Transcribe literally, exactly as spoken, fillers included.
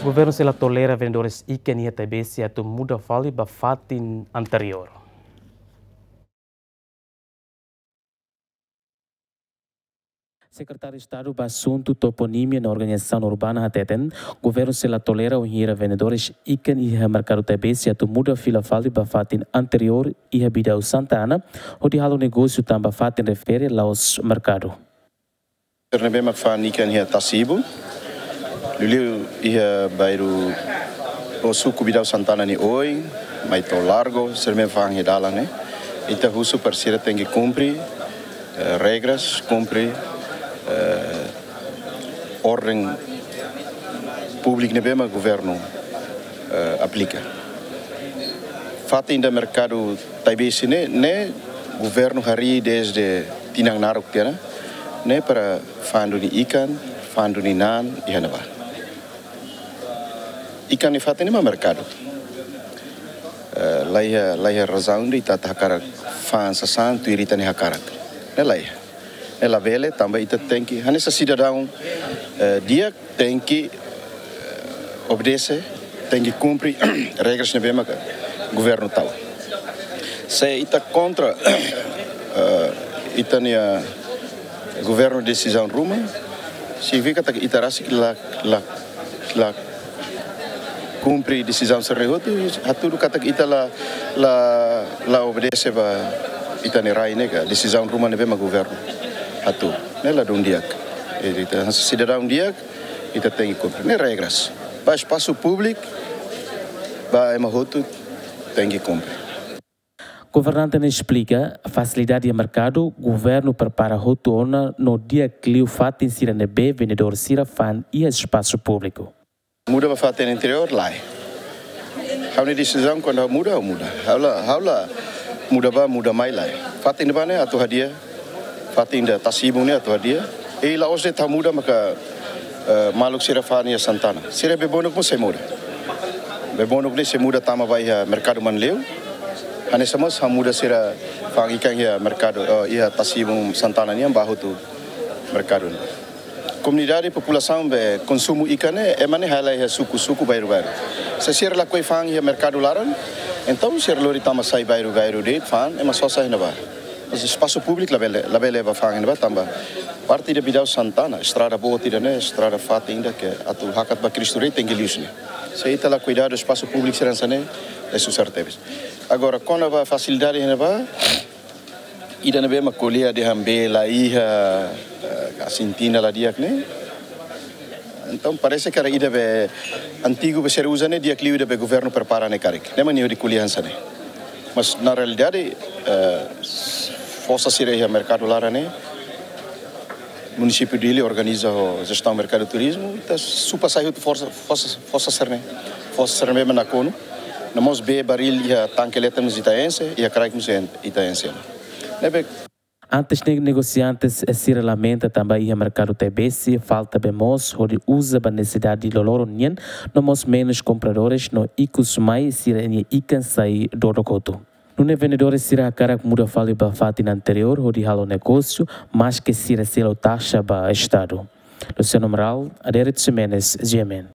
Governu sei la tolera vendedores ikan iha Taibesi atu muda fali ba fatin anteriór. Sekretáriu Estadu ba Asuntu Toponímia no Organizasaun Urbana hateten, governu sei la tolera wainhira vendedores ikan iha merkadu Taibesi atu muda fila fali ba fatin anteriór iha Bidau Santa Ana, hodi halo negósiu tanba fatin refere la'ós merkadu. Sira ne'ebé mak fa'an ikan iha Tasi-Ibun, liuliu iha bairru ou suku Bidau Santa Ana nia oin, mai to'o Largo, sira ne'ebé fa'an iha dalan ne'e. Ita husu para sira tenke kumpre, eh, regras, kumpre, eh, orden públiku ne'ebé mak governu, eh, aplika. Fatin ida merkadu Taibesi ne'e, ne'e governu harii dezde tinan naruk tiha ona, ne'e para fa'an duni ikan, fa'an duni na'an iha ne'ebá. Ikan nia fatin ne'e mak merkadu. Eh, la iha, la iha razaun ida ita atu hakarak fa'an sasán tuir ita-nia hakarak. Ne'e la iha. Ne'e labele, tanba ita tenke, hanesan sidadaun, eh, di'ak tenke, eh, obedese, tenke kumpre regras ne'ebé maka governu tau. Se ita kontra, eh, ita-nia governu desizaun ruma, signifika katak ita rasik la, la, la kumpre desizaun sira-ne'e hotu, hatudu katak ita la, la, la obedese ba ita-nia rai ne'e ka desizaun ruma ne'ebé mak governu hatudu. Ne'e ladún di'ak. Ita sidadaun di'ak, ita tenke kumpre. Ne'e regras. Ba espasu públiku, ba ema hotu tenke kumpre. Governante ne'e esplika, fasilidade iha merkadu, governu prepara hotu ona no di'ak liu fatin sira ne'ebé vendedór sira fa'an iha espasu públiku. Muda ba fatin anteriór, lae. Ha'u-nia desizaun kuandu ha'u muda, ha'u muda. Ha'u la, ha'u la muda bá, muda mai, lae. Fatin ne'ebá ne'e atu hadi'a, fatin ida Tasi-Ibun ne'e atu hadi'a. I la'ós de'it ha'u muda maka, eh, maluk sira fa'an iha Santa Ana. Sira bebonuk mós sei muda. Bebonuk ne'e sei muda tama ba iha merkadu Manleu. Hanesan mós ha'u muda sira fa'an ikan iha merkadu, eh, iha Tasi-Ibun Santa Ana nian bá hotu merkadu ne'e. Komunidade, populasaun be konsumu ikan ne'e, ema ne'e halai iha suku-suku, bairru-bairru. Se sira lakohi fa'an iha merkadu laran, entaun sira lori tama sai bairru-bairru de'it fa'an, ema sosa iha ne'ebá. Mas espasu públiku labele, labele bá fa'an iha ne'ebá tanba parte ida Bidau Santa Ana, estrada boot ida ne'e, estrada fatin ida ke atu hakat ba Cristo Rei tenke liu husi ne'e. Se ita la kuidadu espasu públiku sira hanesan ne'e, ne'e susar tebes. Agora, kona-ba fasilidade iha ne'ebá, ida ne'ebé mak ko'alia dehan be la iha, eh, asin tinan la di'ak ne'e. Entaun parese katak ida be antigu be sira uza ne'e di'ak liu ida be governu prepara ne'e karik. Ne'e mak nia hodi ko'alia hanesan ne'e. Mas na realidade, eh, forsa sira iha merkadu laran ne'e, munisípiu Dili organiza ho jestaun merkadu turizmu, ita supa sai hotu forsa, forsa, forsa sira-ne'e. Forsa sira-ne'e mak nakonu. No mós be baril iha tanke leten mós ita enxe, iha kraik mós ita enxe. Ne'ebé Antes ne'e negosiantes sira lamenta tanba iha merkadu Taibesi falta bee moos hodi uza ba nesesidade loroloron nian, no mós menus kompradores no ikus mai sira-nia ikan sai dodok hotu. Nune'e vendedores sira hakarak muda fali ba fatin anteriór hodi halo negósiu, maske sira selu taxa ba Estadu. Luciano Amaral, Adérito Ximenes, G M N.